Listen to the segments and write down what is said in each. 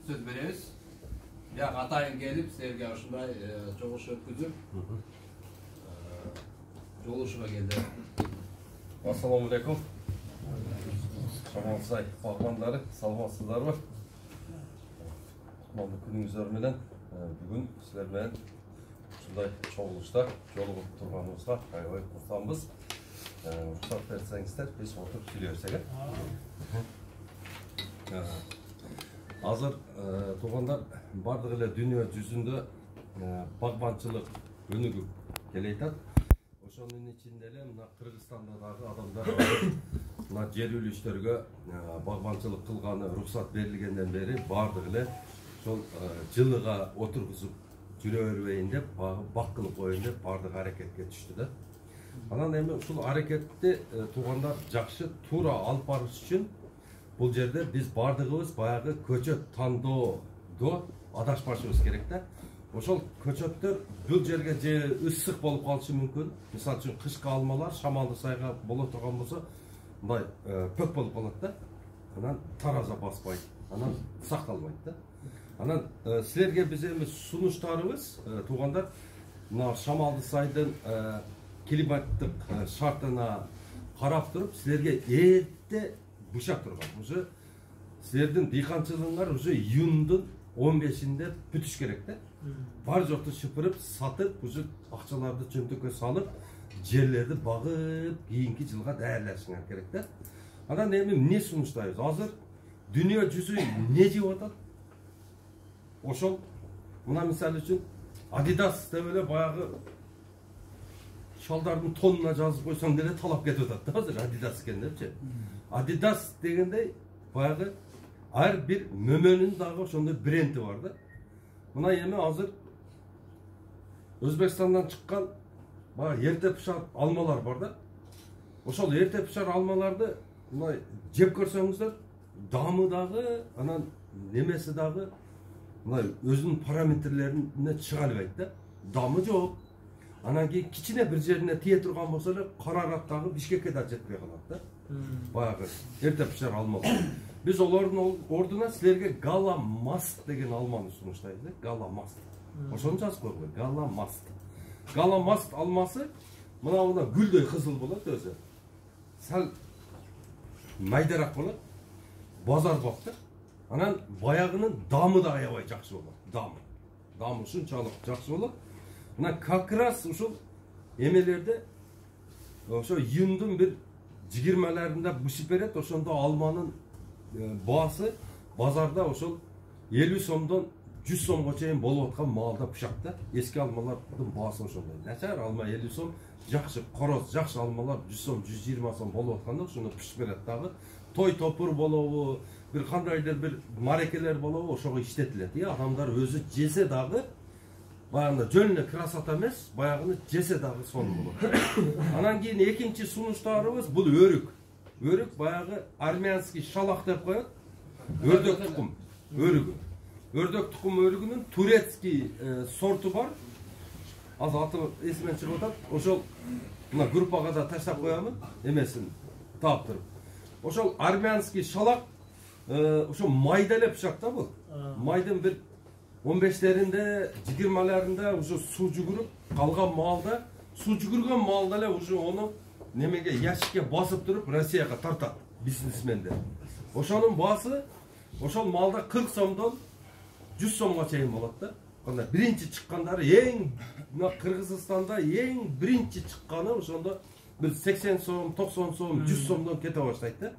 сөз беребиз. Бияк атайын келип, силерге ушундай чогуш өткүзүп, жолугушууга келди. Ассаламу алейкум. Шамалсай багбандары, саламатсыздарбы? Кутмандуу күнүңүздөр менен бүгүн силер менен ушундай чогулушта жолугуп турганыбызга аябай курманбыз. Уруксат берсеңиздер, биз отуруп сүйлөбөсөк. Азыр туугандар бардык эле дүйнө жүзүндө багбанчылык өнүгүп келатат. Ошонун ичинде эле мына Кыргызстанда дагы адамдар мына жер үлүштөргө багбанчылык кылганы уруксат берилгенден бери бардык эле ошол жылыга отургузуп жүрө бербейин деп, бак кылып коеюн деп бардык аракетке түштү да. Анан эми ушул аракетти туугандар жакшы туура алып барыш үчүн бул жерде биз бардыгыбыз баягы көчөт тандоодо адашпашыбыз керек да. Ошол көчөттөр бул жерге же ысык болуп калышы мүмкүн. Мисалы үчүн кышкы алмалар шамалдуу сайга боло турган болсо, мындай пөк болуп калат да. Анан тараза баспайт, анан сакталбайт да. Анан силерге биз эми сунуштарыбыз туугандар мына шамалдуу сайдын климаттык шартына карап туруп силерге эрте бышап турган. Уже силердин дыйканчылыгыңар уже июндун 15-inde бүтүш керек да. Бар жокту шыпырып, сатып, уже акчаларды чөнтөккө салып, жерлерди багып, кийинки жылга даярдашыңар керек да. Анан эми эмне сунуштайбыз? Азыр дүйнө жүзү эмне жеп атат? Ошол мына мисалы үчүн Adidas деп эле баягы шалдардын тонуна жазып койсоң деле талап кетип атат да азыр Adidas экен депчи. Adidas дегендей баягы ар бир мөмөнүн дагы ошондой бренди бар да. Мына эми азыр Өзбекстандан чыккан баягы эрте пышар алмалар бар да. Ошол эрте пышар алмаларды мына жеп көрсөңүздөр, дамы дагы, анан немеси дагы мына өзүнүн параметрлерине чыга албайт да. Дамы жок. Анан кийин кичине бир жерине тие турган болсо эле карарат дагы Бишкекке да жетпей калат да. Баягы эрте пышар алмалар. Биз олордун ордуна силерге Галамаст деген алманы сунуштайбыз. Галамаст. Ошону жазып койгула. Галамаст. Галамаст алмасы мына гүлдөй кызыл болот өзү. Сал майдарак болот. Базар бакты. Анан баягынын дамы да аябай жакшы болот. Дамы ушунчалык жакшы болот. Мына как раз ушул эмелерде ошо июндун бир 20-ларында бышып берет. Ошондо алманын баасы базарда ошол 50 сомдон 100 сомго чейин болуп аткан маалда бышат да. Эски алмалардын баасы ошондой. Начар алма 50 сом, жакшы короз, жакшы алмалар 100 сом, 120 сом болуп атканда ошондо бышып берет дагы. Той топур болобу, бир кандайдыр бир марекелер болобу ошого иштетилет. Адамдар өзү жесе дагы баягында жөн эле красота эмес, баягыны жесе дагы сонун болот. Анан кийин экинчи сунуштарыбыз бул өрүк. Өрүк баягы армянский шалак деп коет. Өрдөк тукум өрүгү. Өрдөк тукум өрүгүнүн турецкий сорту бар. Азыр аты эсимен чыгып атат. Ошол мына группага да таштап коямын, эмесин таап туруп. Ошол армянский шалак ошо майда эле пышат да бул. Майдын бир 15-леринде, 20-ларында уже суу жүгүрүп калган маалда, суу жүгүргөн маалда эле уже ону немеге ящикке басып туруп Россияга тартат бизнесмендер. Ошонун баасы ошол маалда 40 сомдон 100 сомго чейин болот да. Кандай биринчи чыккандары эң мына Кыргызстанда эң биринчи чыкканы ошондо бир 80 сом, 90 сом, 100 сомдон кете баштайт да.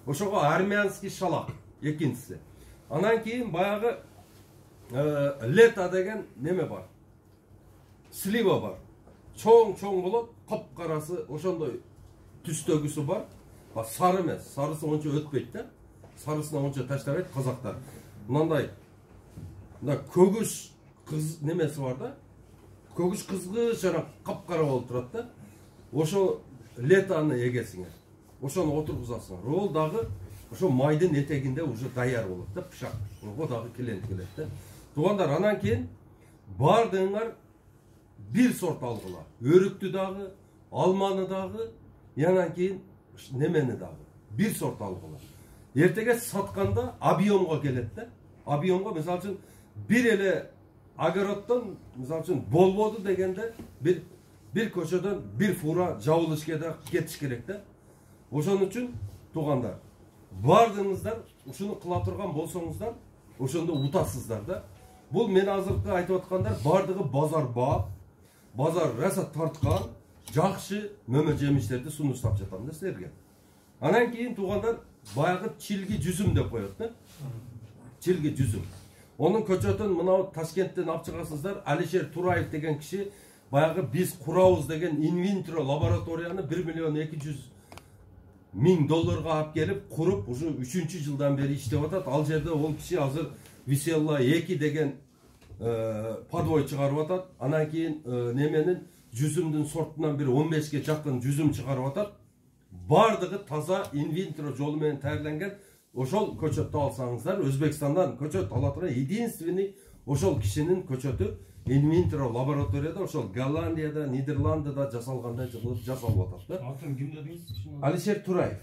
Ошого армянский шалак экинчиси. Анан кийин баягы лето деген неме бар. Слива бар. Чоң болот, капкарасы ошондой түстөгүсү бар. Сары эмес, сарысы ончо өтпөйт да. Сарысына ончо таштабайт казактар. Мындай мына көгүш кыз немеси бар да. Көгүш кызгыч жана капкара болуп турат да. Ошо летоны эгесиңер. Ошону отургузасыңар. Ол дагы ошо майдын этегинде уже даяр болот да, пышак. Ого дагы келет да. Туугандар, анан кийин бардыгыңар бир сорт алгыла. Өрүктү дагы, алманы дагы, анан кийин немени дагы бир сорт алгыла. Эртеге сатканда объемго келет да. объемго мисалы үчүн бир эле огороддон мисалы үчүн болбоду дегенде бир көчөдөн бир фура жабылыш кетиш керек да. Ошон үчүн туугандар, бардыгыңыздар ушуну кыла турган болсоңуздар, ошондо утасыздар да. Бул мен азыркы айтып аткандар бардыгы базар баап, базар раса тарткан, жакшы мөмө жемиштерди сунуштап жатам да силерге. Анан кийин туугандар баягы чилги жүзүм деп коет да. Чилги жүзүм. Onun көчөтүн мынау Ташкенттен алып чыгасыздар. Алишер Тураев деген киши баягы биз курабыз деген инвинтро лабораторияны 1 миллион 200 000 долларга алып келип куруп, ушу 3-чү жылдан бери иштеп атат. Ал жерде ол киши азыр Висела 2 деген подвой чыгарып атат. Анан кийин неменин жүзүмдүн сортунан бир 15ге жакын жүзүм чыгарып атат. Бардыгы таза инвинтро жолу менен таярленген. Ошол көчөттү алсаңыздар, Өзбекстандан көчөт ала турган единственный ошол кишинин көчөтү инвинтро лабораторияда, ошол Голландияда, Нидерландыда жасалгандай жасалып атат да. Атын ким дедиңиз? Алишер Тураев.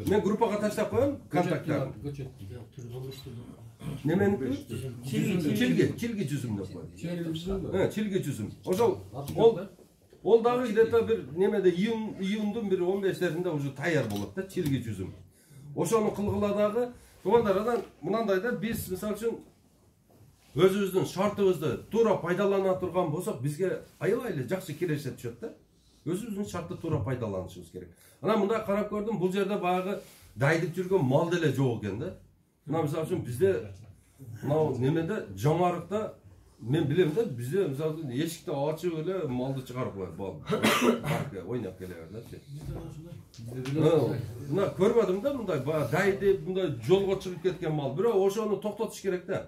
Мен группага таштап коем контакттарын. Немени? Чилги жүзүм деп коет. Чилги жүзүм. Ошол ол дагы где-то бир немеде июндун бир 15-леринде уже таяр болот да, чилги жүзүм. Ошону кылгыла дагы туугандар, анан мынандай да, биз мисалы үчүн өзүбүздүн шартыбызды туура пайдалана турган болсок, бизге аябай эле жакшы киреше түшөт да. Өзүбүздүн шартты туура пайдаланышыбыз керек. Анан мындай карап көрдүм, бул жерде баягы дайдып жүргөн мал деле жок экен да. Мына мисалы үчүн бизде мынау немеде Жамарыкта мен билем да, бизде мисалы үчүн эшикти ачып эле малды чыгарып коет, паркка ойноп келе берди. Мына көрбөдүм да мындай дайдып, мындай жолго чыгып кеткен мал. Бирок ошону токтотуш керек да.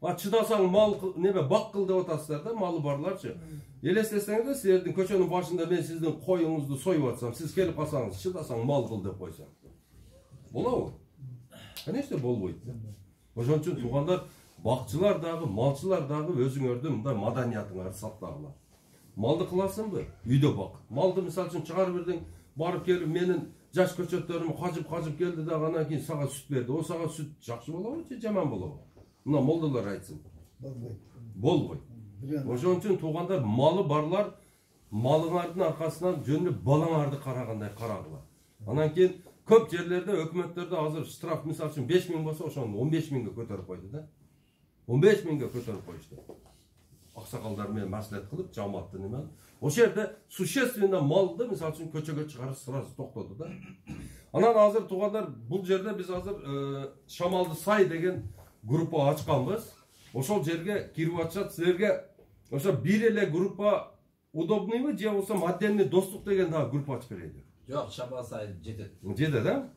Чыдасаң мал неме бак кыл деп атасыздар да, малы барларчы. Элестесеңиз, силердин көчөнүн башында мен сиздин коюңузду союп атсам, сиз келип калсаңыз, чыдасаң мал кыл деп койсоң. Болобу? Конечно болбойт. Ошон үчүн туугандар, бакчылар дагы, малчылар дагы өзүңөрдүн мындай маданиятыңарды сактагыла. Малды кыласыңбы? Үйдө бак. Малды мисалы үчүн чыгарып бердиң, барып келип менин жаш көчөттөрүм кажып келди дагы анан кийин сага сүт берди. О сага сүт жакшы болобу же жаман болобу? Мына молдолор айтсын. Болбойт. Ошон үчүн туугандар, малы барлар малыңардын аркасынан жөнүп балаңарды карагандай карагыла. Анан кийин көп жерлерде өкмөттөрдө азыр штраф мисалы үчүн 5000 болсо, ошону 15000ге көтөрүп койду да. 15000ге көтөрүп коюшту. Аксакалдар менен маслихат кылып, жамаатты неме. Ошол жерде существенно малды мисалы үчүн көчөгө чыгарып сразу токтоду да. Анан азыр туугандар, бул жерде биз азыр Шамалды сай деген группа ачканбыз. Ошол жерге кирип атышат. Силерге ошо бир эле группа удобныйбы же болбосо отдельный достук деген дагы группа ачып берейби? Жок, Шамал сай жетет. Жетет да?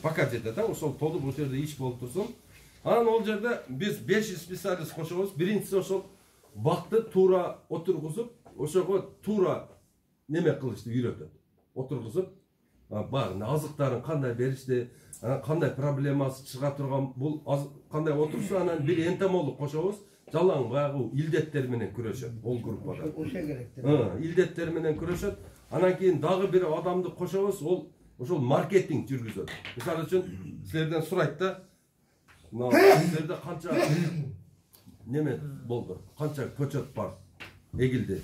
Пока жетет да? Ошол толуп ошол жерде иш болуп турсун. Анан ол жерде биз 500 специалист кошобуз. Биринчиси ошол бакты туура отургузуп, ошого туура неме кылышты үйрөтөт. Отургузуп, багы азыктарын кандай беришти, кандай проблемасы чыга турган, бул кандай отурса, анан бир энтомолог кошобуз. Жалаң баягы илдеттер менен күрөшөт ол группада. Ошо керек. Илдеттер менен күрөшөт. Анан кийин дагы бир адамды кошобуз, ол ошол маркетинг жүргүзөт. Мисалы үчүн силерден сурайт да, силерде канча неме болду, канча көчөт бар, эгилди.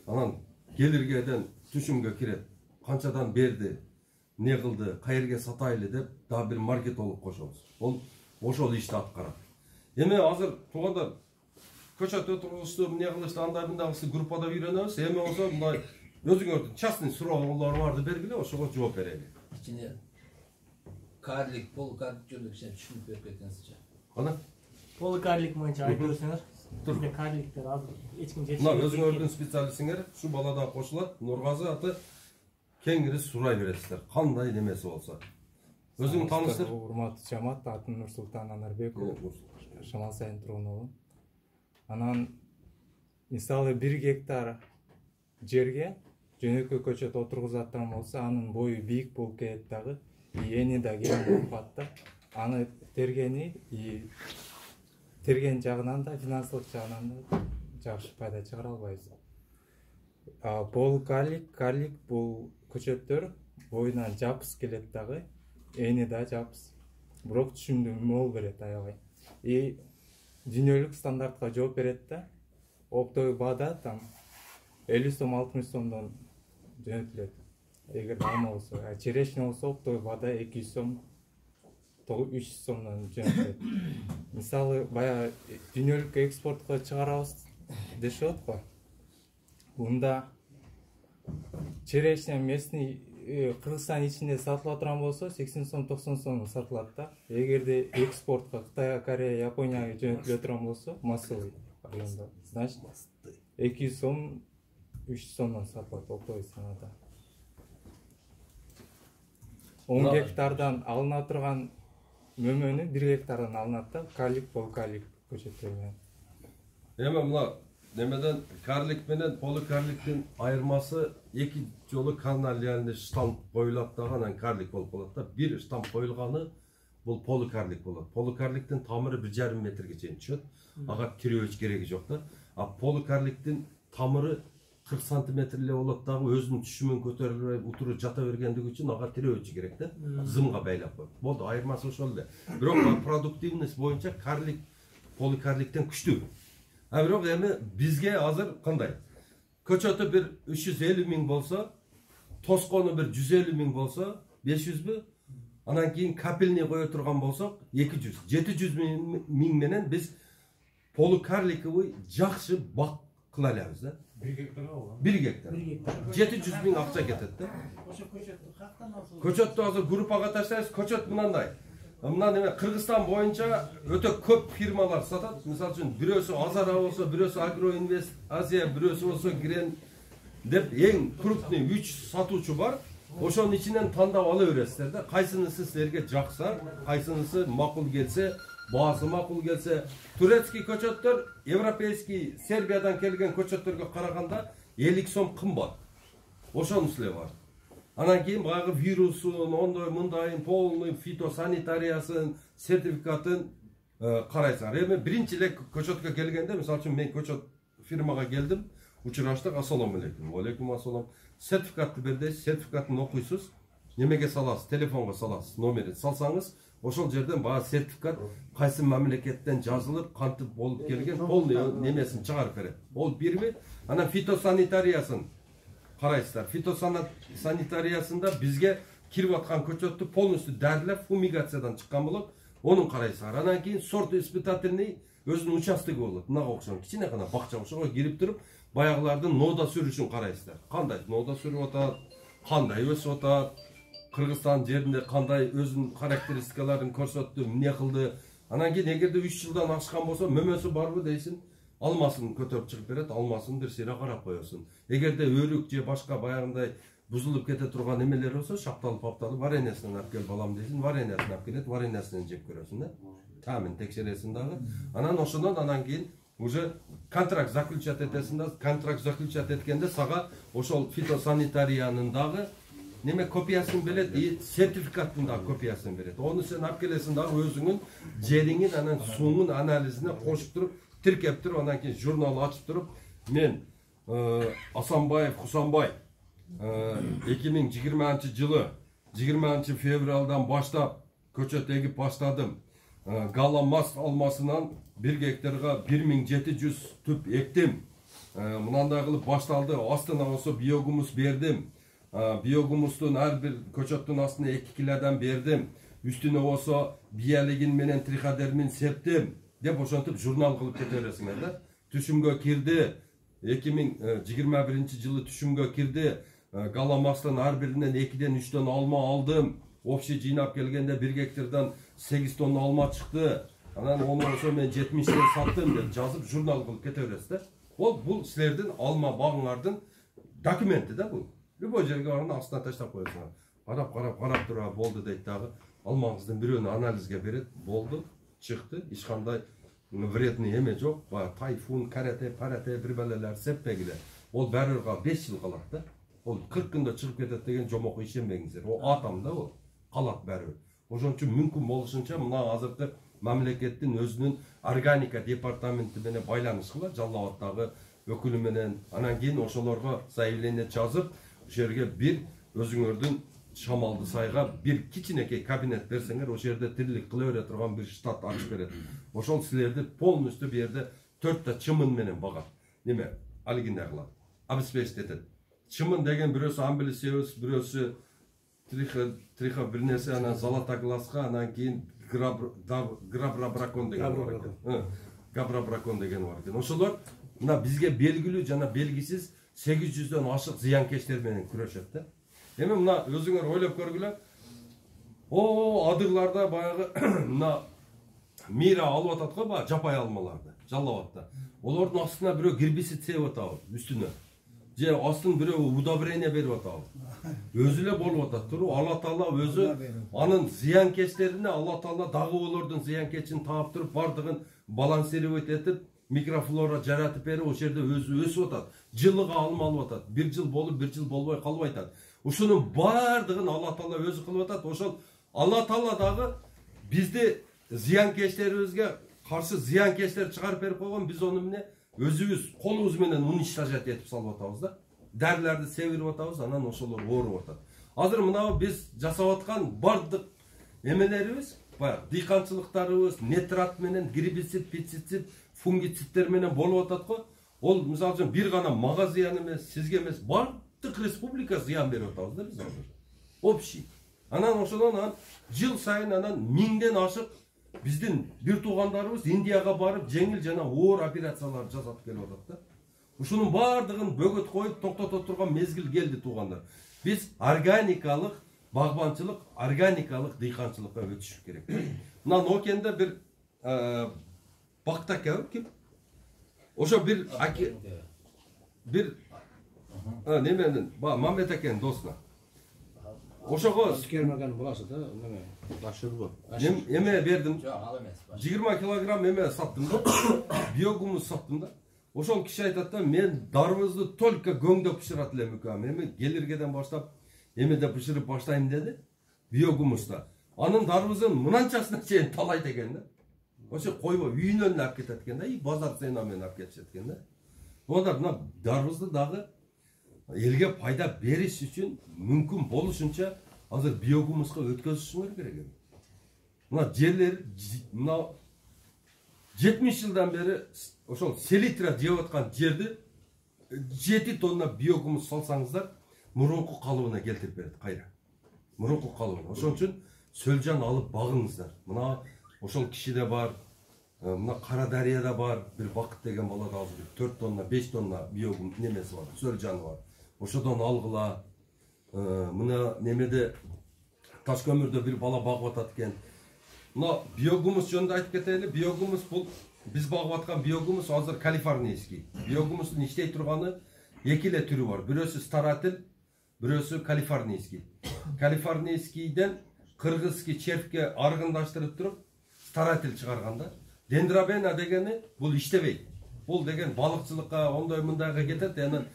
Анан келиргеден түшүмгө кирет, канчадан берди, не кылды, кайерге сатайлы деп дагы бир маркетолог кошобуз. Ол ошол ишти аткарат. Эми азыр туугандар көчөт отургузушту, эмне кылышты, андай мындагысы группада үйрөнөбүз. Эми болсо мындай өзүңөрдүн частный суроолору барды бергиле, ошого жооп берели. Кичине карлик, полукарлик жөнүндө кичине түшүнүп берип кетсеңизчи. Кана? Полукарлик боюнча айтып берсеңер. Бизде карликтер азыр эч ким жетишпейт. Мына өзүңөрдүн специалистиңер ушу бала да кошулат. Нургазы аты кеңири сурай бересиздер. Кандай немеси болсо. Өзүң тааныштыр. Урматтуу жамаат, атым Нурсултан Анарбеков, Шамал сайын тургуну. Анан мисалы 1 гектар жерге жөнөкөй көчөт отургузаттан болсо, анын бою бийик болуп кетет дагы, эни да кең болуп калат да. Аны терген жагынан да, финансылык жагынан да жакшы пайда чыгара албайбыз. Карлик бул көчөттөр боюнан жапыс келет дагы, эни да жапыс. Бирок түшүмдүү мол берет аябай. и дүйнөлүк стандартка жооп берет да. Оптовый баада там 50 сом 60 сомдон жөнөтүлөт. Эгер алма болсо, черешня болсо оптовый баада 200 сом 300 сомдон жөнөтүлөт. Мисалы баягы дүйнөлүк экспортко чыгарабыз дешип атпайбы? Мында черешня местный Кыргызстан ичинде сатыла турган болсо 80 сом 90 сом сатылат да. Эгерде экспортко Кытайга, Корея, Японияга жөнөтүлө турган болсо массовый районда, значит 200 сом 300 сомдон сатылат оптовый ценада. 10 гектардан алына турган мөмөнү 1 гектардан алынат да, карлик, полукарлик көчөттөр менен. Эми мына немеден карлик менен полукарликтин айырмасы эки жолу каналиальный штамп коюлат дагы анан карлик болуп калат да. Бир штамп коюлганы бул полукарлик болот. Полукарликтин тамыры 1,5 метрге чейин түшөт. Ага тирөөч кереги жок да. А полукарликтин тамыры 40 сантиметр эле болот дагы өзүнүн түшүмүн көтөрүлбөй утуру жата бергендиги үчүн ага тирөөчү керек да. Зымга байлап коюп. Болду, айырмасы ошол эле. Бирок продуктивность боюнча карлик полукарликтен күчтүү. А бирок эми бизге азыр кандай? Көчөтү бир 350 миң болсо, тоскону бир 150 миң болсо, 500бү? Анан кийин капельный кое турган болсок, 200, 700 миң менен биз полукарликовый жакшы бак кыла алабыз да. 1 гектарга алган. 1 гектар. 700 миң акча кетет да. Ошо көчөттү каяктан алсаңыз? Көчөттү азыр группага таштайбыз. Көчөт мынандай. Мына неме Кыргызстан боюнча өтө көп фирмалар сатат. Мисалы үчүн бирөөсү Азара болсо, бирөөсү Агроинвест Азия, бирөөсү болсо Грен деп эң крупный 3 сатуучу бар. Ошонун ичинен тандап ала бересиздер да. Кайсынысы силерге жакса, кайсынысы макул келсе, баасы макул келсе, турецкий көчөттөр европейский Сербиядан келген көчөттөргө караганда 50 сом кымбат. Ошонун силе бар. Анан кийин баягы вирусун, ондой мындайын полный фитосанитариясын, сертификатын карайсыңар. Эми биринчи эле көчөткө келгенде, мисалы үчүн мен көчөт фирмага келдим, учураштык, ассаламу алейкум. Алейкум ассалам. Сертификатты бер дейсиз, сертификатын окуйсуз, немеге саласыз, телефонго саласыз, номерин салсаңыз, ошол жерден баягы сертификат кайсы мамлекеттен жазылып, кантип болуп келген, полный немесин чыгарып берет. Ол бирби, анан фитосанитариясын карайсыздар. Фитосанитариясында бизге кирип аткан көчөттү полностью дәрилеп, фумигациядан чыккан болот. Онун карайсыздар. Анан кийин сорт испытательный өзүнүн участогу болот. Мынага окшогон кичине гана бакча ошого кирип туруп, баягылардын нода сүрүшүн карайсыздар. Кандай нода сүрүп атат, кандай өсүп атат, Кыргызстан жеринде кандай өзүнүн характеристикаларын көрсөттү, эмне кылды. Анан кийин эгерде 3 жылдан ашкан болсо, мөмөсү барбы дейсиң, алмасын көтөрүп чыгып берет, алмасын бир сыйра карап коесуң. Эгерде өрүк же башка баягындай бузулуп кете турган эмелер болсо, шапталып папталып, вареньясынан алып кел балам дейсиң, вареньясын алып келет, вареньясынан жеп көрөсүң да. Тамын текшересиң дагы. Анан ошондон анан кийин уже контракт заключать этесиң да, контракт заключать эткенде сага ошол фитосанитариянын дагы неме копиясын берет, и сертификаттын дагы копиясын берет. Ону сен алып келесиң дагы өзүңүн жериңин анан суунун анализине кошуп туруп, тиркеп туруп, анан кийин журнал ачып туруп, мен Асанбаев Хусанбай 2020-жылы 20 февралдан баштап көчөт эгип баштадым. Галамас алмасынан 1 гектарга 1700 түп эктим. Мынандай кылып башталды. Астына болсо биогумус бердим. Биогумустун ар бир көчөттүн астына 2 килодан бердим. Үстүнө болсо биялигин менен триходермин септим деп ошентип журнал кылып кете бересиңер да. Түшүмгө кирди. 2021-жылы түшүмгө кирди. Галамастын ар биринен 2-ден 3-төн алма алдым. Общий жыйнап келгенде 1 гектардан 8 тонна алма чыкты. Анан ону болсо мен 70-тен саттым деп жазып журнал кылып кете бересиз да. Бул силердин алма багыңардын документи да бул. Любой жерге барганда астына таштап коесуңар. Карап туруп болду дейт дагы. Алмаңыздын бирөөнү анализге берет, болду, чыкты, эч кандай вредный эме жок. Тайфун, карате, парате бир балалар сеппегиле. Ол баары 5 жыл калат да. Ол 40 күндө чыгып кетет деген жомокко ишенбеңиздер. О атам да ол. Калат баары. Ошон үчүн мүмкүн болушунча мына азыркы мамлекеттин өзүнүн органика департаменти менен байланыш кылат, Жалал Абаддагы өкүлү менен. Анан кийин ошолорго заявление жазып, ошол жерге бир өзүңөрдүн Шамалды сайга бир кичинекей кабинет берсеңер, ошол жерде тирлик кыла бере турган бир штат ачып берет. Ошол силерди полностью бу жерде 4 чымын менен багат. Неме? Алигине кылат. Обеспечить этет. Чымын деген бирөөсү амбилисиус, бирөөсү триха бир нерсе, анан золотоглазга, анан кийин грабрабракон деген бар экен. Габрабракон деген бар экен. Ошолор мына бизге белгилүү жана белгисиз 800дөн ашык зыянкечтер менен күрөшөт да. Эми мына өзүңөр ойлоп көргүлө. Адырларда баягы мына мира алып атат го, баягы жапай алмаларды жаллап атты. Олордун астына бирөө гербицид себип атабы үстүнө. Же астын бирөө удобрение берип атабы. Өзү эле болуп атат туруп, Алла Таала өзү анын зыянкечтерине, Алла Таала дагы олордун зыянкечин таап туруп, бардыгын балансировать этип, микрофлора жаратып берип, ошол жерде өзү өсүп атат. Жылыга алма алып атат. Бир жыл болуп, бир жыл болбой калбай атат. Ушунун бардыгын Алла Таала өзү кылып атат. Ошол Алла Таала дагы бизди зыянкечтерибизге каршы зыянкечтер чыгарып берип койгон, биз ону эмне өзүбүз колубуз менен уничтожать этип салып атабыз да. Дарыларды себирип атабыз, анан ошолор ооруп атат. Азыр мына биз жасап аткан бардык эмелерибиз, баягы дыйканчылыктарыбыз нитрат менен, гербицид, пестицид, фунгициддер менен болуп атат го. Ол мисалы үчүн бир гана мага зыян эмес, сизге эмес, бардык республика зыян берип атабыз да биз азыр. Общий. Анан ошодон жыл сайын анан 1000ден ашык биздин бир туугандарыбыз Индияга барып жеңил жана оор операциялар жасап келип атат да. Ушунун бардыгын бөгөт коюп токтото турган мезгил келди туугандар. Биз органикалык багбанчылык, органикалык дыйканчылыкка өтүш керек. Мына Нокенде бир бактака ким? Ошо бир неменен, Мамет акенин досуна. Ошого Кермеген буласы да, неме, башырбы. Эме бердим. Жок, ал эмес. 20 килограмм эме саттым да. Биогумус саттым да. Ошол киши айтат да, мен дарыбызды только көңдөп бышырат элем экөөм. Эми келиргеден баштап эмеде бышырып баштайм деди. Биогумуста. Анын дарыбызын мынанчасына чейин талайт экен да. Ошо койбой үйүнөн алып кетет экен да, и базар цена менен алып кетишет экен да. Онда мына дарыбызды дагы элге пайда бериш үчүн мүмкүн болушунча азыр биогумуска өткөзүшүңөр керек. Мына жерлер мына 70 жылдан бери ошол селитра жеп аткан жерди 7 тонна биогумус салсаңыздар, мурунку калыбына келтирип берет кайра. Мурунку калыбына. Ошон үчүн Сөлжан алып багыңыздар. Мына ошол кишиде бар, мына Кара Дарыяда бар, бир Бакыт деген бала да азыр 4 тонна, 5 тонна биогум немеси бар, Сөлжаны бар. Ошодон алгыла. Мына немеде Ташкөмүрдө бир бала багып атат экен. Мына биогумус жөнүндө айтып кетели. Биогумус бул биз багып аткан биогумус азыр калифорнийский. Биогумустун иштей турганы эки эле түрү бар. Бирөөсү старатель, бирөөсү калифорнийский. Калифорнийскийден кыргызский червке аргындаштырып туруп старатель чыгарганда, дендрабена дегени бул иштебейт. Бул деген балыкчылыкка, ондой мындайга кетет, анан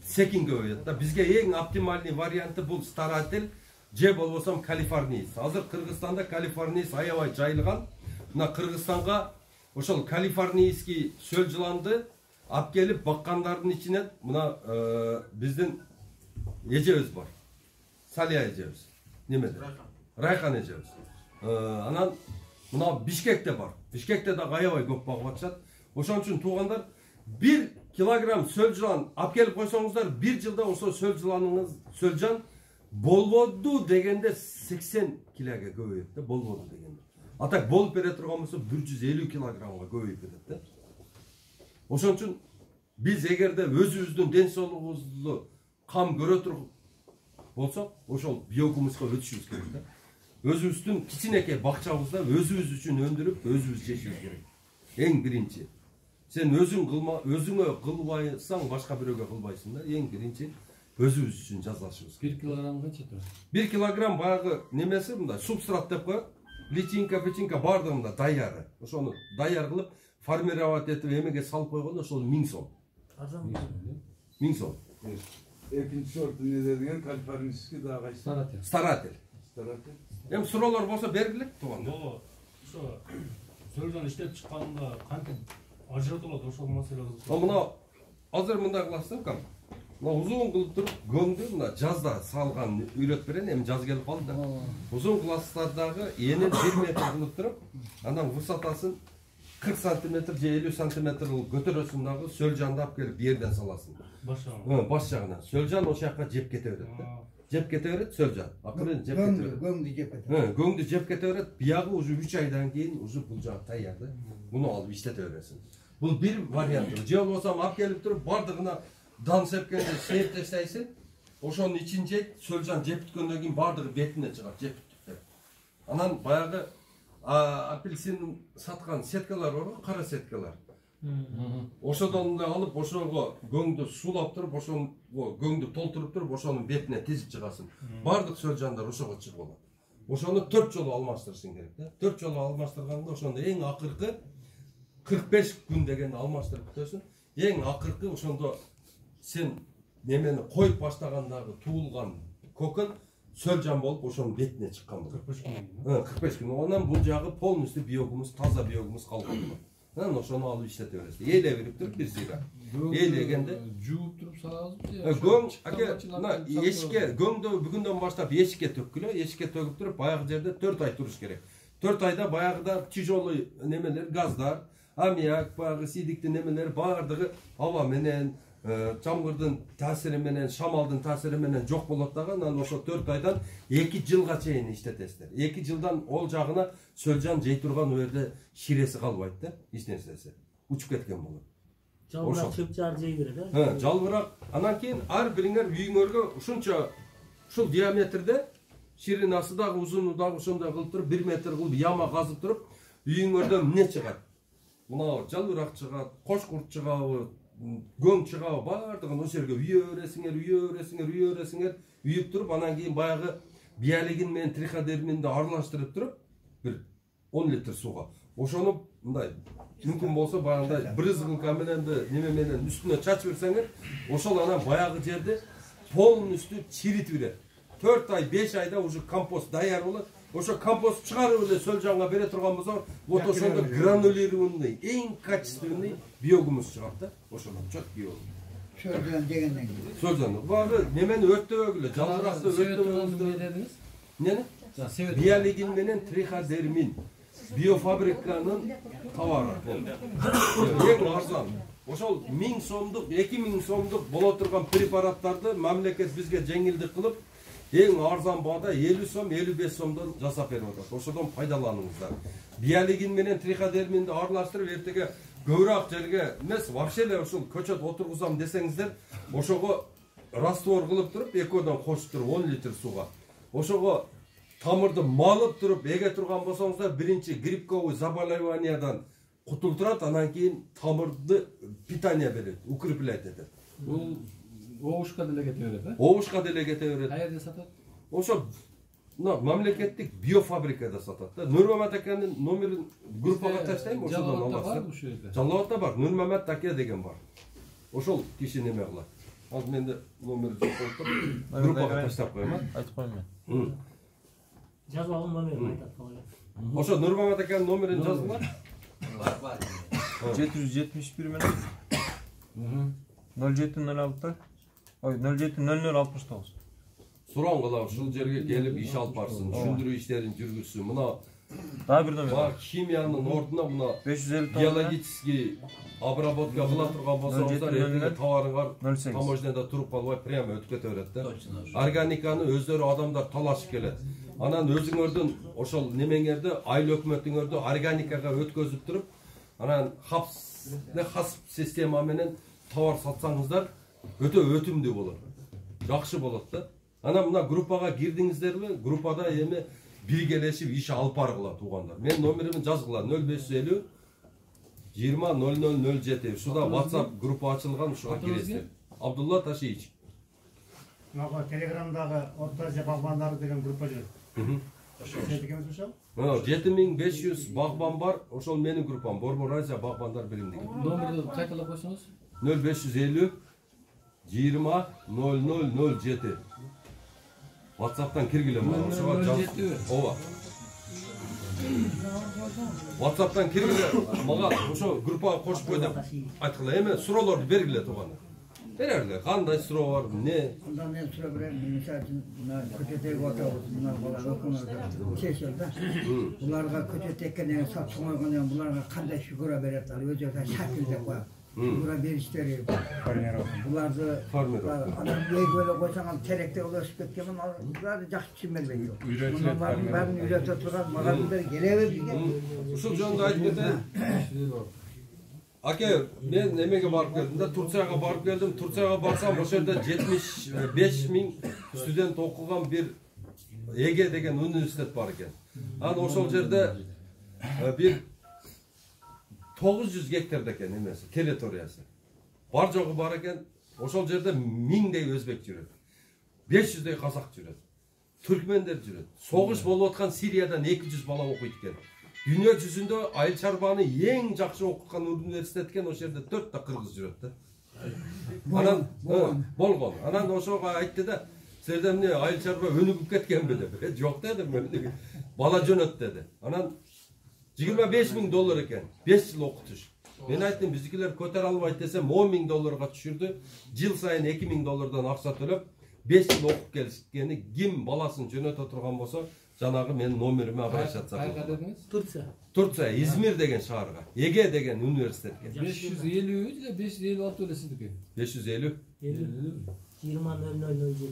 секин көбөйөт да. Бизге эң оптимальный варианты бул старатель же болбосом калифорниец. Азыр Кыргызстанда калифорниец аябай жайылган. Мына Кыргызстанга ошол калифорнийский сөл жыланды алып келип баккандардын ичинен мына биздин эжебиз бар. Салия эжебиз. Немеде? Райхан эжебиз. Анан мына Бишкекте бар. Бишкекте да аябай көп багып атышат. Ошон үчүн туугандар 1 килограмм сөл жылан алып келип койсоңуздар, 1 жылда ошо сөл жан болбоду дегенде 80 килога көбөйөт да, болбоду дегенде. А так болуп бере турган болсо 150 килограммга көбөйүп кетет да. Ошон үчүн биз эгерде өзүбүздүн ден соолугубузду кам көрө туруп болсок, ошол биогумуска өтүшүбүз керек да. Өзүбүздүн кичинекей бакчабызда өзүбүз үчүн өндүрүп, өзүбүз жешибиз керек. Эң биринчи. Сен өзүңө кылбайсаң, башка бирөөгө кылбайсың да. Эң биринчи өзүбүз үчүн жазашыбыз. 1 килограмм канча турат? 1 килограмм баягы немеси мындай субстрат деп коет. Личинка, печинка бардыгында даяры. Ошону даяр кылып, формировать этип эмеге салып койгондо ошол 1000 сом. Арзан. 1000 сом. Экинчи сорт эмне деген калифорнийский дагы кайсы? Старатель. Старатель. Эми суроолор болсо бергилек тууган. Ошо сөлжөн иштеп чыкканда кантип ажыратылат ошол маселе кызык. Мына азыр мындай кыласыздар кам. мына узун кылып туруп көңдү мына жазда салган үйрөтүп берейин, эми жаз келип калды да. Узун класстардагы энин 1 метр кылып туруп, анан высотасын 40 сантиметр же 50 сантиметр көтөрөсүң дагы сөлжанды алып келип жерден саласың. Баш жагынан. Сөлжан ошол жака жеп кете берет да. Жеп кете берет сөлжан. Акырын жеп кете берет. Көңдү жеп кетет. Көңдү жеп кете берет. Биягы уже 3 айдан кийин уже бул жагы даяр да. Муну алып иштете бересиң. Бул бир вариант. Же болбосо алып келип туруп бардыгына дан сепкенде сееп таштайсың. Ошонун ичин жейт, сөлжан жеп бүткөндөн кийин бардыгы бетине чыгат, жеп бүттүп. Анан баягы апельсин саткан сеткалар бар го, кара сеткалар. Ошодон да алып, ошого көңдү суулап туруп, ошону көңдү толтуруп туруп, ошонун бетине тизип чыгасың. Бардык сөлжандар ошого чыгып алат. Ошону 4 жолу алмаштырышың керек да. 4 жолу алмаштырганда ошондо эң акыркы 45 күн дегенде алмаштырып бүтөсүң. Эң акыркы ошондо сен немени коюп баштагандагы туулган көкөн сөлжан болуп ошонун бетине чыккан болот. 45 күн. Анан бул жагы полностью биогумус, таза биогумус калган болот. Анан ошону алып иштете бересиз.Ээле берип туруп бир сыйра. Ээлегенде жууп туруп салабызбы? Көң, мына эшикке көңдү бүгүндөн баштап эшикке төккүлө, эшикке төгүп туруп баягы жерде 4 ай туруш керек. 4 айда баягыда тяжелый немелер, газдар, аммиак, баягы сидиктин немелер бардыгы аба менен, чамгырдын таасири менен, шамалдын таасири менен жок болот дагы. Анан ошо 4 айдан 2 жылга чейин иштетесиздер. 2 жылдан ол жагына сөлжан жей турган жерде ширеси калбайт да, эч нерсеси. Учуп кеткен болот. Жалбырак чыпчар жей берет, э? Жалбырак. Анан кийин ар бириңер үйүңөргө ушунча ушул диаметрде ширинасы дагы узуну дагы ошондой кылып туруп 1 метр кылып яма казып туруп үйүңөрдөн эмне чыгат? Мына жалбырак чыгат, кош курт чыгабы, көң чыгабы бардыгын ошол жерге үйө бересиңер, үйүп туруп анан кийин баягы биялигин менен триходерминди аралаштырып туруп бир 10 литр сууга. Ошону мындай мүмкүн болсо баягындай брызгылка менен неме менен үстүнө чачып берсеңер, ошол анан баягы жерди полностью чиритип берет. 4 ай, 5 айда уже компост даяр болот. Ошо компост чыгарып эле сөлжанга бере турган болсо, вот ошондо гранулированный, эң качественный биогумус чыгат да. Ошондон четкий болот. Сөлжан дегенден кийин. Сөлжан. Багы немени өттөбөгүлө, жалбыракты өттөбөгүлө дедиңиз? Эмнени? Биялигин менен триходермин. Биофабриканын товары. Эң арзан. Ошол 1000 сомдук, 2000 сомдук боло турган препараттарды мамлекет бизге жеңилдик кылып, эң арзан баада 50 сом, 55 сомдон жасап берип атат. Ошодон пайдаланыңыздар. Биялигин менен триходерминди аралаштырып, эртеге көбүрөөк жерге эмес, вообще эле ошол көчөт отургузам десеңиздер, ошого раствор кылып туруп, экөөдөн кошуп туруп 10 литр сууга. Ошого тамырды малып туруп эге турган болсоңуздар, биринчи грибковый заболеваниядан кутултурат, анан кийин тамырды питание берет, укрепляет этет. Бул оушка деле кете берет, э? Оушка деле кете берет. Каерде сатат? Ошо мамлекеттик биофабрикада сатат да. Нурмамат акенин номерин группага таштайм, ошодон аласыздар. Жалалатта бар, Нурмамат аке деген бар. Ошол киши неме кылат. Ал менде номери жок болуп, группага таштап коем, айтып коем мен. Жазып алган номерин айтат калган. Ошо Нурмамат акенин номерин жазгыла. 771 менен 0706 ой 070069 сураңгыла ушул жерге келип иш алып барсын, түшүндүрүү иштерин жүргүзсүн. Мына дагы бир номер бар. Химиянын ордуна мына 550 биологический обработка кыла турган болсоңуздар, эртеге товарыңар 08 таможняда туруп калбай прямо өтүп кете берет да. Органиканы өздөрү адамдар талашып келет. Анан өзүңөрдүн ошол немеңерди, айыл өкмөтүңөрдү органикага өткөзүп туруп, анан хасп система менен товар сатсаңыздар, өтө өтүмдүү болот. Жакшы болот да. Анан мына группага кирдиңиздерби? Группада эми биргелешип иш алып баргыла туугандар. Мен номеримди жазгыла 0550 20 0007. Ушуда WhatsApp группа ачылган, ушуга киресиздер. Абдулла Ташиевич. Мага телеграмдагы Орто Азия багбандары деген группа жүрөт. Ошо. 7500 багбан бар. Ошол менин группам. Борбор Азия багбандар биримдиги. Номерди кайталап койсоңуз? 0550 20 0007. WhatsApp'tan киргиле мага. Ошого жаз. Ооба. WhatsApp'tan киргиле мага ошо группага кошуп кой деп айткыла. Эми суроолорду бергиле туугандар. берерлер. Кандай суроо бар, эмне? Анда мен сурап берем, мисалы үчүн мына көчөтөгү отурабыз, мына бала өкмөт чечил да. Буларга көчөт эккенден сатып койгондон буларга кандай фигура берет, ал өзү шакил деп коет. Фигура бериштери. Буларды анан эгөлө койсоң теректе өсүп кеткен, алар жакшы түшүн бербейт. Булардын баарын үйрөтө турган мугалимдер кереби бизге? Ушул жөнүндө айтып кетейин. Аке, мен немеге барып келдим да, Турцияга барып келдим. Турцияга барсам, ошол жерде 75 миң студент окуган бир Эге деген университет бар экен. Анан ошол жерде бир 900 гектарда экен эмеси, территориясы. Бар жогу бар экен. Ошол жерде 1000дей өзбек жүрөт. 500дей казак жүрөт. Түркмендер жүрөт. Согуш болуп аткан Сириядан 200 бала окуйт экен. Дүйнө жүзүндө айыл чарбаны эң жакшы окуткан университет экен, ошол жерде 4 та кыргыз жүрөт да. Анан болгон. Анан ошого айтты да, силерде эмне айыл чарба өнүгүп кеткенби деп. Жок дедим мен. Бала жөнөт деди. Анан $25 миң экен. 5 жыл окутуш. Мен айттым, биздикилер көтөрө албайт десем, $10 миң түшүрдү. Жыл сайын $2 миң акча төлөп, 5 жыл окуп келишкени, ким баласын жөнөтө турган болсо, жанагы менин номериме обращаться кылып. Кайга дедиңиз? Турция. Турция, Измир деген шаарга, Эге деген университетке. 550 же 556 эле сиздики? 550. 20.0007.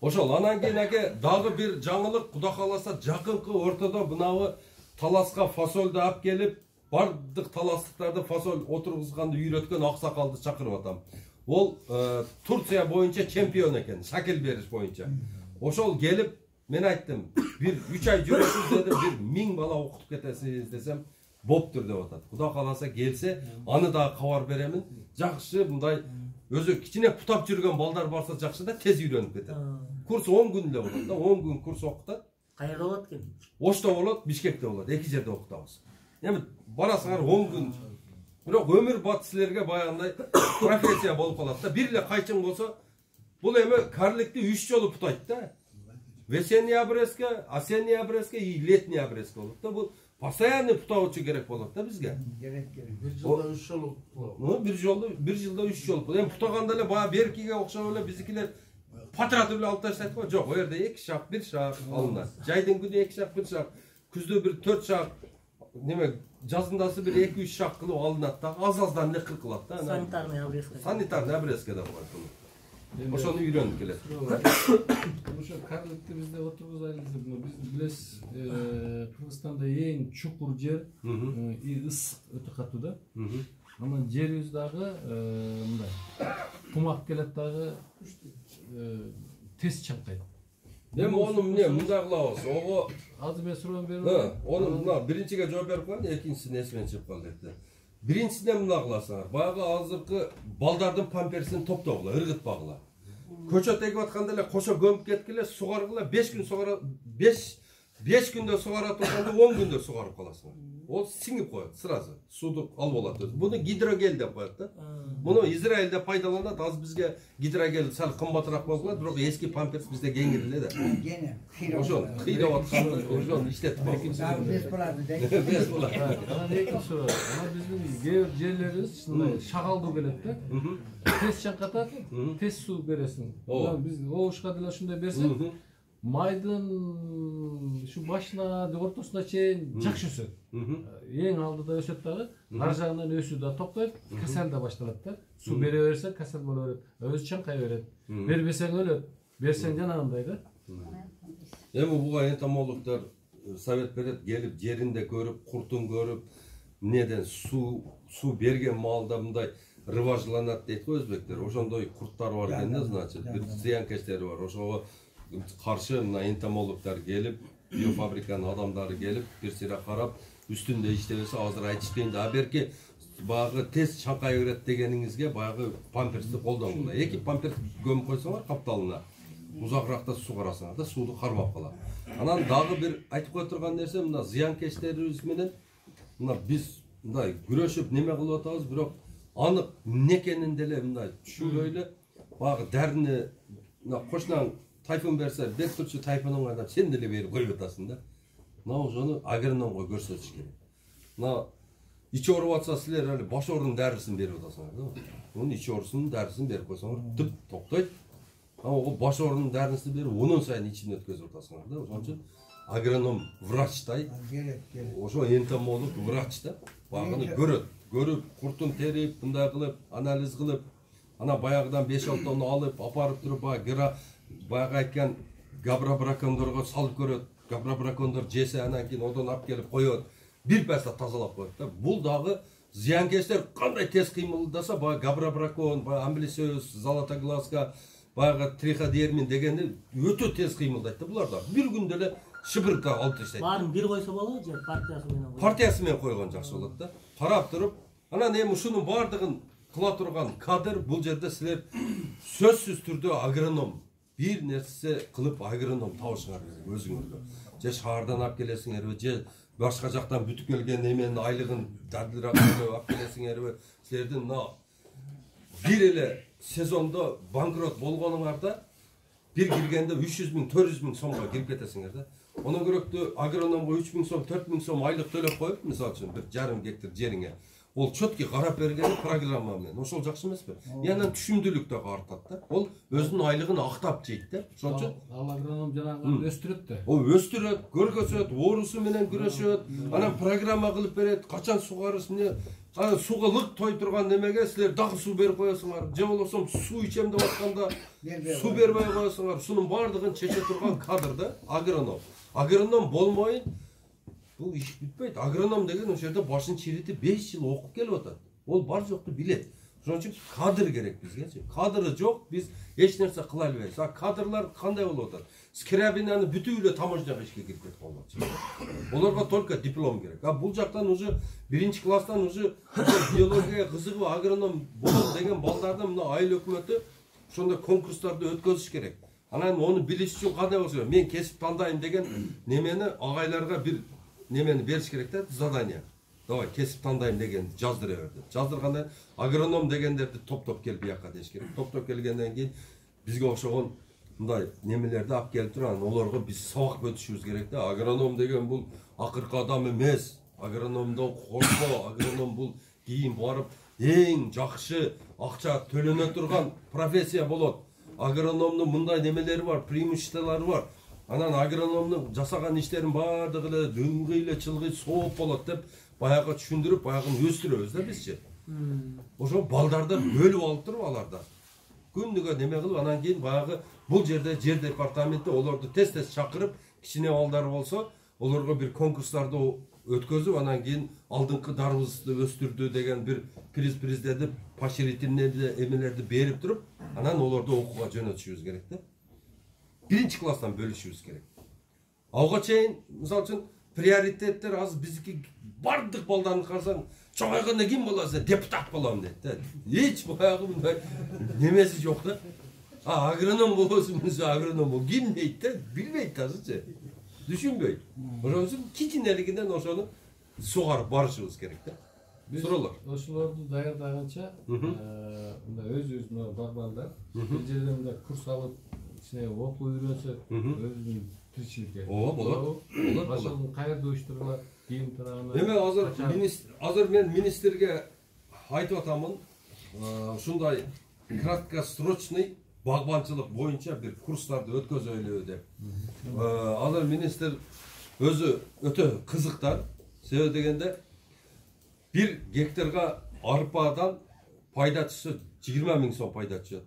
Ошол анан кийин аке дагы бир жаңылык, Кудай кааласа жакынкы ортодо мынабы таласка фасолду алып келип, бардык таластыктарды фасоль отургузганды үйрөткөн аксакалды чакырып атам. Ол Турция боюнча чемпион экен, шакил бериш боюнча. Ошол келип мен айттым, бир 3 ай жүрөсүз дедим, бир 1000 бала окутуп кетесиз десем, боптур деп атат. Кудай кааласа келсе, аны дагы кабар беремин. Жакшы, мындай өзү кичине путап жүргөн балдар барса жакшы да тез үйрөнүп кетет. Курс 10 күн эле болот да, 10 күн курс окутат. Кайерде болот экен? Ошто болот, Бишкекте болот, эки жерде окутабыз. Эми барасыңар 10 күн. Бирок өмүр бат силерге баягындай профессия болуп калат да. Бир эле кайчың болсо, бул эми карликти 3 жолу путайт да. Весенний обрезка, осенний обрезка и летний обрезка болот да. Бул постоянный путаучу керек болот да бизге. Керек. Bir жылда 3 жолу. Bir жылда 3 жолу. Эми путаганда эле бая беркиге окшоп эле биздикилер патратып эле алып таштайт го. Жок, о жерде 2 шак, 1 шак алынат. Жайдын күнү 2 шак, 1 шак, күздө бир 4 шак, неме жазындасы бир 2-3 шак кылып алынат да. Аз-аздан эле кылат да. Санитарный обрезка. Санитарный обрезка да бар. Ошону үйрөнүп келет. Ошо карликти бизде отургузайлы деп, биз билесиз, Кыргызстанда эң чукур жер, ысык өтө катуу да. Анан жерибиз дагы мындай кумак келет дагы тез чаңкайт. Эми ону эмне мындай кылабыз? Ого Азыр мен суроо берип, ону мына биринчиге жооп берип коеюн, экинчисин эсимен чыгып калды депти. Биринчисинен мына кыласыңар. Баягы азыркы балдардын памперсин топтогула, ыргытпагыла. Көчөт эгип атканда эле кошо көмүп кеткиле, сугаргыла, 5 күн сугара, 5 күндө сугара турганда 10 күндө сугарып каласыңар. Ол сиңип коет сразу. Суду алып алат өзү. Буну гидрогел деп коет да. Муну Израилде пайдаланат. Аз бизге гидрогел сал кымбатыраак болуп калат, бирок эски памперс бизде кеңир эле да. Ошол кыйрап аткан, ошол иштетип койгон. Без платы дейт. Без платы. анан экинчи суроо. Анан биздин кээ бир жерлерибиз ушундай шагалдуу келет да. Тез чаңкатат, тез суу бересиң. Анан биз оушка деле ушундай берсек, майдын şu башына ортосуна чейин жакшы өсөт. Эң алдыда өсөт дагы, ар жагынан өсүү да токтойт, касал да башталат да. Суу бере берсең касал боло берет, өзү чаңкай берет. Бербесең өлөт, берсең жанагындай да. Эми буга энтомологдор совет берет, келип жеринде көрүп, куртун көрүп, эмнеден суу берген маалда мындай рыважланат дейт го өзбектер. Ошондой курттар бар экен да, значит, бир зыянкечтери бар. Ошого каршы мына энтомологдор келип, биофабриканын адамдары келип, бир сыйра карап, үстүндө иштебесе азыр айтышпайын да. Берки баягы тез чаңкай берет дегениңизге баягы памперсти колдонгула. 2 памперс көмүп койсоңор капталына, узагыракта сугарасыңар да, сууду кармап калат. Анан дагы бир айтып кое турган нерсе, мына зыянкечтерибиз менен мына биз мындай күрөшүп неме кылып атабыз, бирок анык эмне экенин деле мындай түшүнбөй эле баягы дарыны мына кошунаң тайфун берсе, бек турчу тайфунун адам сен деле берип коюп атасың да. Мына ошону агрономго көрсөтүш керек. Мына ич ооруп атса силер али баш оорунун дарысын берип атасыңар да. Мунун ич оорусунун дарысын берип койсоңор тып токтойт. Ого баш оорунун дарысын берип онун сайын ичин өткөзүп атасыңар да. Ошон үчүн агроном врачтай. Ошо энтомолог врач да. Багыны көрүп, куртун терип, мындай кылып, анализ кылып, ана баягыдан 5-6 тонна алып, апарып туруп, баягы айткан габробракондорго салып көрөт. Габробракондор жесе анан кийин одон алып келип коет. Бир паста тазалап коет да. Бул дагы зыянкечтер кандай тез кыймылдаса, баягы габробракон, баягы амблисиоз, золотоглазка, баягы триходермин дегенди өтө тез кыймылдайт да булар да. Бир күндө эле шыбырка алып таштайт. Баарын бир койсо болобу же партиясы менен? Партиясы менен койгон жакшы болот да. Карап туруп, анан эми ушунун баардыгын кыла турган кадр бул жерде силер сөзсүз түрдө агроном бир нерсе кылып агроном табышыңар керек өзүңөргө. Же шаардан алып келесиңерби, же башка жактан бүтүп келген эменин айлыгын дадылыраак алып келесиңерби? Силердин мына бир эле сезондо банкрот болгонуңарда бир киргенде 300 000, 400 000 сомго кирип кетесиңер да. Онун көрөктүү агрономго 3 000 сом, 4 000 сом айлык төлөп коюп, мисалы үчүн бир жарым гектар жериңе. Ол чөткү карап бергени программа менен. Ошол жакшы эмеспи? Анан түшүмдүүлүк да артат да. Ол өзүнүн айлыгын актап жейт да. Ошон үчүн ал агроном жанагы өстүрөт да. О өстүрөт, көргөзөт, оорусу менен күрөшөт, анан программа кылып берет, качан сугарыш эмне, анан суга лык той турган немеге силер дагы суу берип коесуңар. Же болбосо суу ичем деп атканда суу бербей коесуңар. Ушунун баардыгын чече турган кадр да агроном. Агроном болмойын бул иш бүтпөйт. Агроном деген ошол жерде башын чиритип 5 жыл окуп келип атат. Ол бар жокту билет. Ошон үчүн кадр керек бизгечи. Кадры жок, биз эч нерсе кыла албайбыз. А кадрлар кандай болуп атат? Скрябинаны бүтүп эле таможняга ишке кирип кетип калган. Олорго только диплом керек. А бул жактан уже 1-класстан уже биологияга кызыгып агроном болом деген балдарды мына айыл өкмөтү ошондой конкурстарды өткөзүш керек. Анан onu билиш үчүн кандай болсо, мен кесип тандайм деген немени агайларга бир немени бериш керек да, задание. Давай кесип тандайм деген жаздыра бер деп. Жаздыргандан агроном дегендерди топтоп келип бияка деш керек. Топтоп келгенден кийин бизге окшогон мындай немелерди алып келип турган, олорго биз сабак өтүшүбүз керек да. Агроном деген бул акыркы адам эмес. Агрономдон коркпо, агроном бул кийин барып эң жакшы акча төлөнө турган профессия болот. Агрономдун мындай немелери бар, преимуществолору бар. Анан агрономдун жасаган иштерин баардыгы эле дыңгый эле чылгый сооп болот деп баягы түшүндүрүп, баягын өстүрөбүз да бизчи. Ошо балдарды бөлүп алып туруп аларда. Күндүгө неме кылып, анан кийин баягы бул жерде жер департаменти олорду тез-тез чакырып, кичине балдар болсо, олорго бир конкурстарды өткөзүп, анан кийин алдыңкы дарыбызды өстүрдү деген бир приздерди, поощрительный эмелерди берип туруп, анан олорду окууга жөнөтүшүбүз керек да. 1-класстан бөлүшүбүз керек. Ага чейин, мисалы үчүн, приоритеттер азыр биздики бардык балдарын карасаң, чоңойгондо ким болосу? Депутат болом дейт да. Эч баягы мындай немеси жок да. Агроном болосун, агроном бол. Ким дейт да? Билбейт азырчы. Түшүнбөйт. Ошон үчүн кичинелигинен ошону сугарып барышыбыз керек да. Суроолор. Ошолорду даярдаганча, мындай өз-өзүнө багбандар, бир жерден мындай курс алып, ичине окуп үйрөнсө, өзүнүн тиричиликке. Ооба, болот. Ошону кайерде уюштурулат, кийин турганы. Эми азыр мен министрге айтып атамын, ушундай краткосрочный багбанчылык боюнча бир курстарды өткөзөлү деп. Азыр министр өзү өтө кызыктар. Себеби дегенде 1 гектарга арпадан пайда түшсө 20 000 сом пайда түшөт.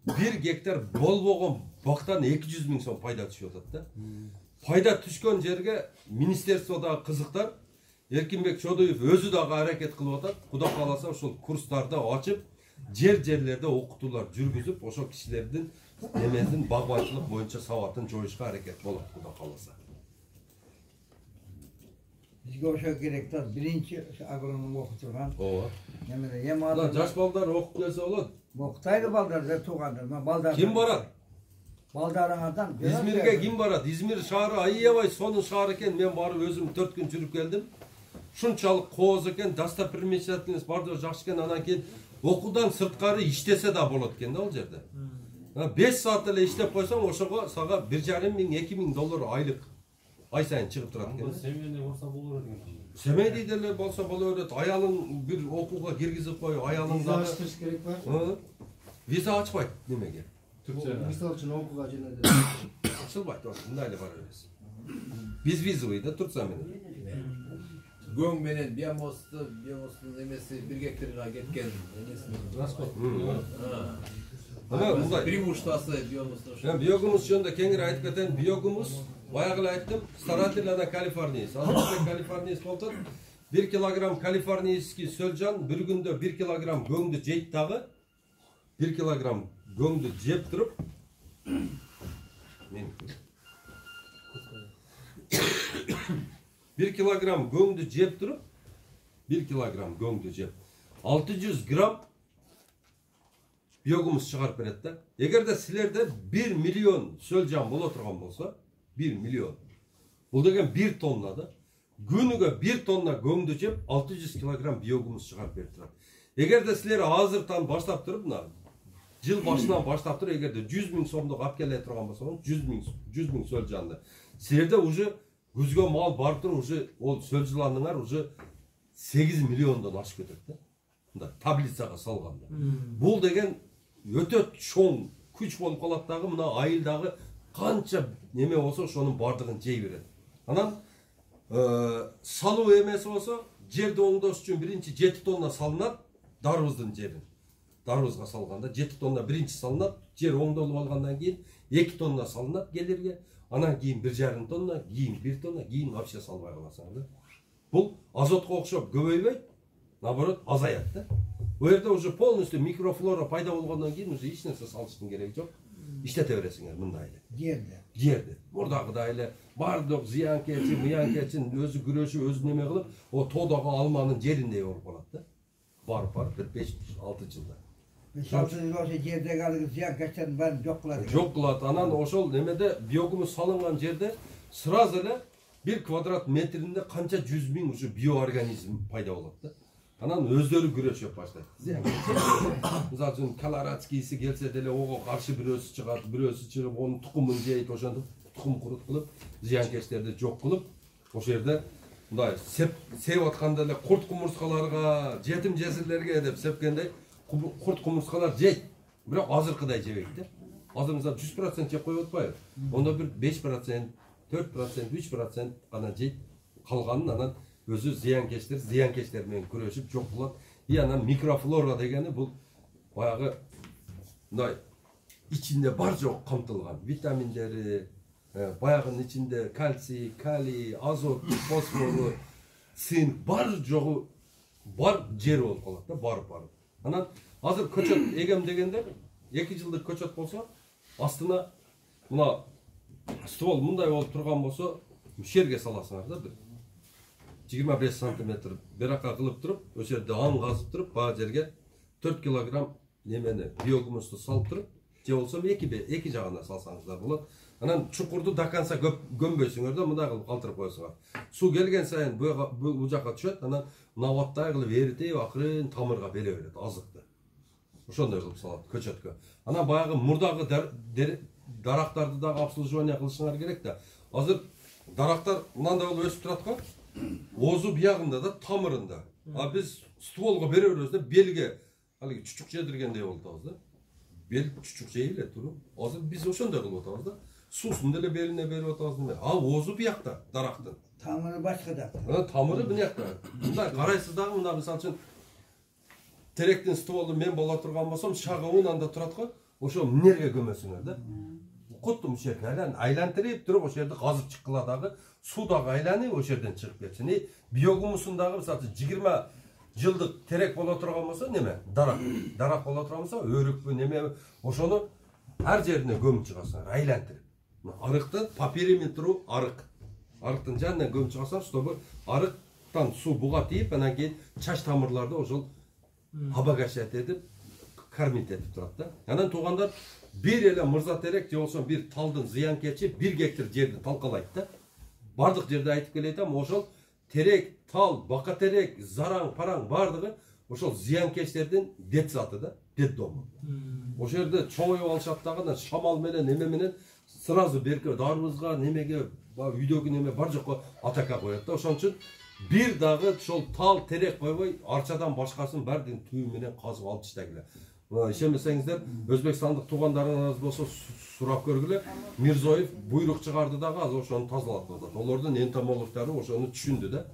1 гектар болбогон бактан 200 000 сом пайда түшүп атат да. Пайда түшкөн жерге министерстводагы кызыктар Эркинбек Чодуев өзү дагы аракет кылып атат. Кудай кааласа ошол курстарды ачып, жерлерде окутуулар жүргүзүп, ошол кишилердин немесин багбанчылык боюнча сабатын жоюшка аракет болот, кудай кааласа. Бизге ошо керек да, биринчи агроном окуп турган. Ооба. Немеде эми азыр жаш балдар окуп келсе болот. Окутайды балдар, туугандар. Балдар. Ким барат? Балдарыңардан. Измирге ким барат? Измир шаары аябай сонун шаар экен. Мен барып өзүм 4 күн жүрүп келдим. Шунчалык кооз экен, достопримечательность бардыгы жакшы экен. Анан кийин окуудан сырткары иштесе да болот экен да ал жерде. 5 саат эле иштеп койсоң, ошого сага $1,5 000, $2 000 айлык. ай сайын чыгып турат экен. Семейде болса болор экен. Семейде деле болса болор экен. Аялың бир окууга киргизип кой, аялың Виза ачтырыш керек бар. Виза ачпайт немеге? Мисалы үчүн окууга жана Ачылбайт, мындай эле бара бересиз. Безвизовый да Турция менен. Göң менен биомостун эмеси 1 гектарга кеткен эмесин расход. Ана мындай преимуществосы биомостун. Мен биогумус жөнүндө кеңири айтып кетейин. Биогумус баягы эле айттым, старательная калифорниис. Азыркы калифорниис болуп 1 килограмм калифорнийский сөлжан bir күндө 1 килограмм göңдү жейт дагы. 1 килограмм göңдү жеп туруп мен 1 килограмм göңдү жеп туруп 1 килограмм göңдү жеп 600 грамм биогумус чыгарып берет да. Эгерде силерде 1 миллион сөлжан боло турган болсо, 1 миллион. Бул деген 1 тонна да. Күнүгө 1 тонна göңдү жеп 600 килограмм биогумус чыгарып берип турат. Эгерде силер азыртан баштап туруп, мына жыл башынан баштап туруп, эгерде 100 000 сомдук алып келе турган болсоңуз, 100 000 сөлжанды. Силерде уже күзгө мал барып туруп, уже ол сөлжаныңар уже 8 миллиондон ашып кетет да. Мындай таблицага салганда. Бул деген өтө чоң күч болуп калат дагы, мына айылдагы канча неме болсо ошонун бардыгын жей берет. Анан салуу эмеси болсо, жерди оңдош үчүн биринчи 7 тонна салынат, дарыбыздын жерин. Дарыбызга салганда 7 тонна биринчи салынат, жер оңдолуп алгандан кийин 2 тонна салынат келирге, анан кийин 1,5 тонна, кийин 1 тонна, кийин вообще салбай каласың да. Бул азотко окшоп көбөйбөйт, наоборот азаят да. Бу жерде уже полностью микрофлора пайда болгондон кийин уже эч нерсе салыштын кереги жок. Иштете бересиңер мындай эле. Жерди. Мурдагыдай эле бардык зыянкечи, мыянкечин өзү күрөшүп, өзү неме кылып, о тоодогу алманын жериндей болуп калат да. Барып 5-6 жылда. 6 жыл ошо жердеги алгы зыянкечтердин баарын жок кылат. Жок кылат. Анан ошол немеде биогумус салынган жерде сразу эле 1 квадрат метринде канча 100 000 уже биоорганизм пайда болот да. Анан өздөрү күрөшүп баштайт. Мисалы үчүн колорадскийси келсе деле ого каршы бирөөсү чыгат, бирөөсү чыгып онун тукумун жейт, ошондо тукум курут кылып, зыянкечтерди жок кылып, ошол жерде мындай сеп атканда эле курт кумурскаларга, жетим жесирлерге деп сепкенде курт кумурскалар жейт. Бирок азыркыдай жебейт да. Азыр мисалы 100% жеп коюп атпайбы? Онда бир 5%, 4%, 3% гана жейт. Калганын анан өзү зыянкечтер менен күрөшүп жок кылат. И анан микрофлора дегени бул баягы мындай ичинде бар жок камтылган витаминдери, баягынын ичинде кальций, калий, азот, фосфору, цинк бар жогу бар жер болуп калат да, барып. Анан азыр көчөт эгем дегенде 2 жылдык көчөт болсо, астына мына ствол мындай болуп турган болсо, жерге саласыңар да бир 25 сантиметр берака кылып туруп, ошол жерде аң казып туруп, баа жерге 4 килограмм немени биогумусту салып туруп, же болсо эки жагына салсаңыздар болот. Анан чукурду до конца көмбөйсүңөр да, мындай кылып калтырып коесуңар. Суу келген сайын бул жака түшөт, анан наваттай кылып эритип, акырын тамырга бере берет азыкты. Ошондой кылып салат көчөткө. Анан баягы мурдагы дарактарды дагы обслуживание кылышыңар керек да. Азыр дарактар мындай болуп өсүп турат го. Озу биягында да, тамырында. А биз стволго бере беребиз да, белге алыгы чучук жедиргендей болуп атабыз да. Бел чучук жей эле туруп. Азыр биз ошондой кылып атабыз да. Суусун деле белине берип атабыз. Ал озу биякта дарактын. Тамыры башкада. Тамыры биякта. Мындай карайсыз дагы, мына мисалы үчүн теректин стволу мен боло турган болсом, шагыбын анда турат го. Ошо эмнеге көмөсүңөр да. Куттум шекерин айлантырып туруп, ошол жерде казып чыккыла дагы, суу дагы айланып ошол жерден чыгып кетсин. Биогумусундагы мисалы 20 жылдык терек боло турган болсо, неме? Дарак боло турган болсо, өрүкпү неме, ошону ар жерине көмүп чыгасыңар, айлантырып. Арыктын по периметру арыктын жанына көмүп чыгасаңар, чтобы арыктан суу буга тийип, анан кийин чач тамырларды ошол обогащать этип, кормить этип турат да. Анан туугандар бир эле мырза терек же болсо бир талдын зыянкечи 1 гектар жерди талкалайт да. Бардык жерде айтып келетем, ошол терек, тал, бака терек, зараң, параң бардыгы ошол зыянкечтердин детсаты да, детдому. Ошол жерде чоңоюп алышат дагы, шамал менен, эме менен сразу берке дарыбызга немеге үйдөгү неме бар жокко атака коет да. Ошон үчүн бир дагы ошол тал терек койбой арчадан башкасын баардыгын түйү менен казып алып таштагыла. Ишенбесеңиздер, өзбекстандык туугандарыңыз болсо сурап көргүлө. Мирзоев буйрук чыгарды дагы азыр ошону тазалап атат. Олордун энтомологдору ошону түшүндү да.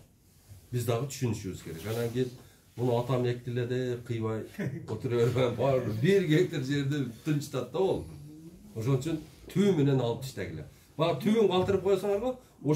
Биз дагы түшүнүшүбүз керек. Анан кийин муну атам эктиле деп кыйбай отура бербей бар 1 гектар жерди тынчтат да ол. Ошон үчүн түйү менен алып таштагыла. Бага түйүн калтырып койсоңорго, ошо